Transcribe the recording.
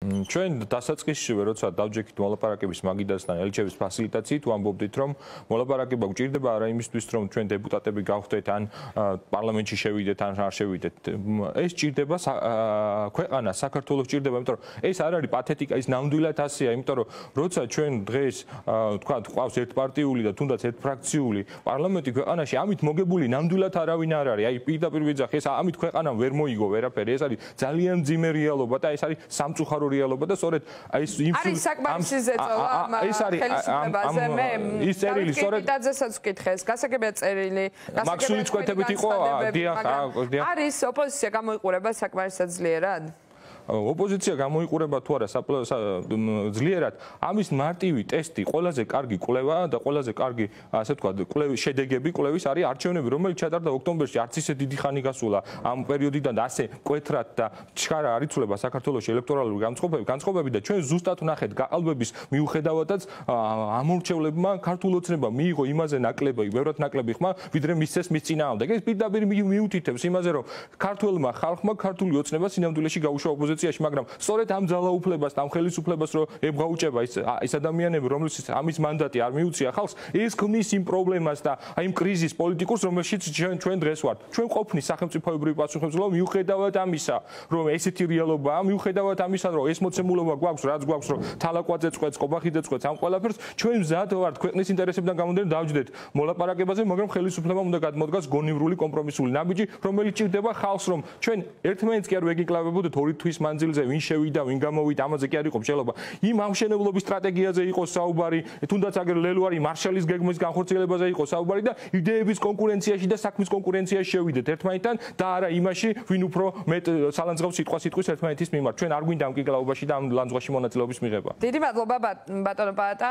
ჩვენ დასაწყისშივე როცა დავჯექით მოლაპარაკების მაგიდასთან ელჩების ფასილიტაციით ვამბობდით რომ მოლაპარაკება გვჭირდება არა იმისთვის რომ ჩვენ დეპუტატები გავხდეთ ან პარლამენტში შევიდეთ ან არ შევიდეთ ეს ჭირდება ქვეყანა საქართველოს ჭირდება იმიტომ რომ ეს არ არის პათეტიკა ის ნამდვილად ასეა იმიტომ რომ როცა ჩვენ დღეს თქვა ყავს ერთპარტიული და თუნდაც ერთფრაქციული პარლამენტი ქვეყანაში ამით მოგებული ნამდვილად არავინ არ არის აი პირდაპირ ვიძახი ეს ამით ქვეყანამ ვერ მოიგო ვერაფერი ეს არის ძალიან მძიმე რეალობა და ეს არის სამწუხარო რეალობა და სწორედ აი არის საკმარისი ზეწოლა ეს არის ის წერილი სწორედ დაძესაც ვკითხეს გასაგებია წერილი მაქსული წვეთებით იყო დიახ არის ოპოზიცია გამოიყურება საკმარისად ძლიერად ოპოზიცია გამოიყურება თუ არა ძლიერად ამის მარტივი ტესტი ყველაზე კარგი კვლევა და ყველაზე კარგი ასე ვთქვათ კვლევის შედეგები კვლევის არის არჩევნები რომელიც ჩატარდა ოქტომბერში არც ისე დიდი ხანი გასულა ამ პერიოდიდან და ასე მკვეთრად და ჩქარა არ იცვლება საქართველოს ელექტორალური განწყობები და ჩვენ ზუსტად ვნახეთ გაყალბების მიუხედავადაც ამორჩევლებმა ქართულ ოცნებამ მიიღო იმაზე ნაკლები ბევრად ნაკლები ხმა ვიდრე მისცეს მის წინააღმდეგ ეს პირდაპირ მიუთითებს იმაზე რომ ქართულმა ხალხმა ქართული ოცნება სინამდვილეში გაუშვა ოპოზიციაში მაგრამ სწორედ ამ ძალაუფლებას და ამ ხელისუფლებას რო ებღაუჭება ის ადამიანები რომლებსაც ამის მანდატი არ მიუწია ხალხს ეს ქმნის იმ პრობლემას და აი იმ კრიზის პოლიტიკურს რომელშიც ჩვენ დღეს ვართ ჩვენ ყოფნის სახელმწიფოებრივი პასუხისმგებლობა მიუხედავად ამისა რომ ესეთი რეალობაა მიუხედავად ამისა რომ ეს მოცემულობა გვაქვს რაც გვაქვს რომ თალაკვაძე წყვეტს ყობახიძე წყვეტს ამ ყველაფერს ჩვენ მზად ვართ ქვეყნის ინტერესებიდან გამომდინარე დავჯდეთ მოლაპარაკებაზე მაგრამ ხელისუფლებამ უნდა გადმოდგას გონივრული კომპრომისული ნაბიჯი რომელიც ჭირდება ხალხს რომ ჩვენ ერთმანეთს კი არ ვეგიკლავებოდეთ ორი თვის მანძილზე ვინ შევიდა, ვინ გამოვიდა, ამაზე კი არ იყო მსჯელობა. იმ ამშენებლობის სტრატეგიაზე იყო საუბარი, თუნდაც აგერ ლელუარი მარშალის გეგმის განხორციელებაზე იყო საუბარი და იდეების კონკურენციაში და საქმის კონკურენციაში შევიდეთ ერთმანეთთან და არა იმაში, ვინ უფრო მეტ სალანძღავს სიტყვის ერთმანეთის მიმართ. ჩვენ არ გვინდა ამ კიკლაობაში და ამ ლანძღვაში მონაწილეობის მიღება. დიდი მადლობა ბატონო პაატა.